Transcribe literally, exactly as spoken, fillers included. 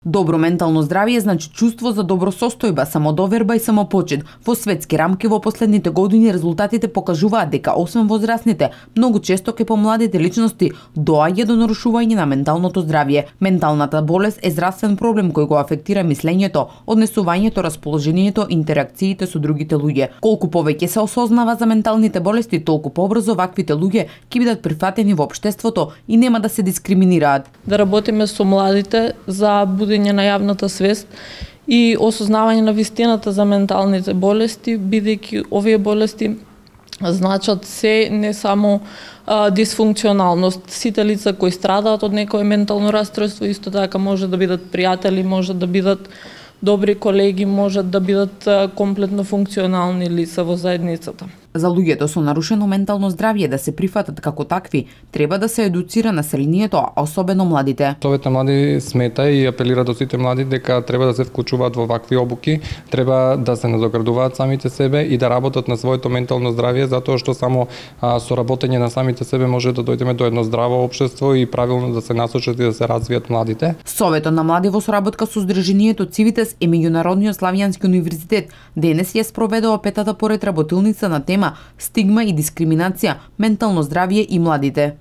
Добро ментално здравје значи чувство за добро состојба, самодоверба и самопочит. Во светски рамки во последните години резултатите покажуваат дека освен возрастните, многу често ке помладите личности доаѓа до нарушување на менталното здравје. Менталната болест е здравствен проблем кој го афектира мислењето, однесувањето, расположението, интеракциите со другите луѓе. Колку повеќе се осознава за менталните болести, толку побрзо ваквите луѓе ќе бидат прифатени во општеството и нема да се дискриминираат. Да работиме со младите за будење на јавната свест и осознавање на вистината за менталните болести, бидејќи овие болести значат се, не само а, дисфункционалност. Сите лица кои страдаат од некое ментално расстройство исто така може да бидат пријатели, може да бидат добри колеги, можат да бидат а, комплетно функционални лица во заедницата. За луѓето со нарушено ментално здравје да се прифатат како такви, треба да се едуцира населението, а особено младите. Совет на млади смета и апелира до сите млади дека треба да се вклучуваат во вакви обуки, треба да се надоградуваат самите себе и да работат на своето ментално здравје, затоа што само а, со работење на самите себе може да дојдеме до едно здраво општество и правилно да се насочат и да се развијат младите. Советот на млади во соработка со Здруженијето Цивитес и Меѓународниот славјански универзитет денес ја спроведува петата поред работилница на тема стигма и дискриминација, ментално здравје и младите.